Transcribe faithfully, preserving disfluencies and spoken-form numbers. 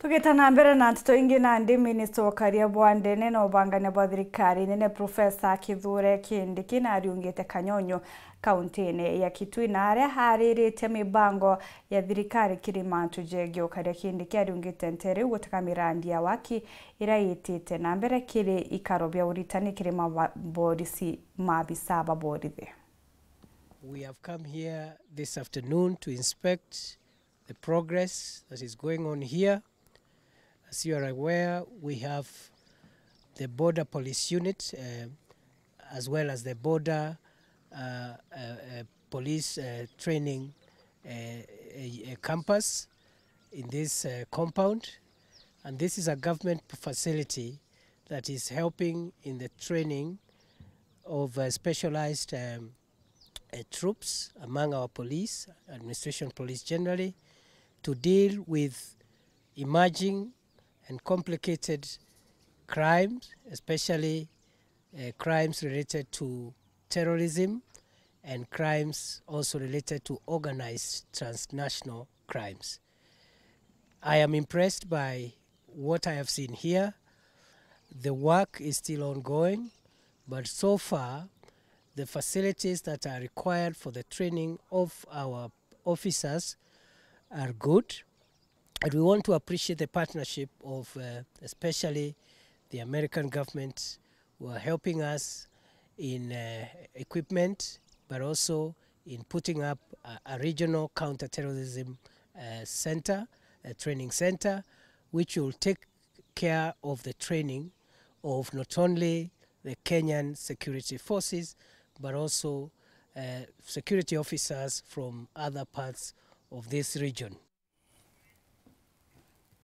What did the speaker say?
Tugita na mbere na nteto ingi, nandi minista wa ukaria bwa ndene na ubangania bwa thirikari nene Professor Kithure Kindiki nariungite Kanyonyo, kaunti-ini ya Kitui, na aria ariritie mibango ya thirikari kiri mantu jegii ukaria. Kindiki ariungite ntere iu gutega mirandi ya waki iria itite na mbere kiri ikaro bia uritani kiri maborisi, maabisa ba borithi. We have come here this afternoon to inspect the progress that is going on here. As you are aware, we have the Border Police Unit, uh, as well as the Border, uh, uh, uh, Police, uh, Training, uh, uh, uh, Campus in this, uh, compound. And this is a government facility that is helping in the training of, uh, specialized, um, uh, troops among our police, administration police generally, to deal with emerging and complicated crimes, especially, uh, crimes related to terrorism and crimes also related to organized transnational crimes. I am impressed by what I have seen here. The work is still ongoing, but so far, the facilities that are required for the training of our officers are good. And we want to appreciate the partnership of, uh, especially the American government, who are helping us in, uh, equipment, but also in putting up a, a regional counterterrorism, uh, center, a training center, which will take care of the training of not only the Kenyan security forces, but also, uh, security officers from other parts of this region.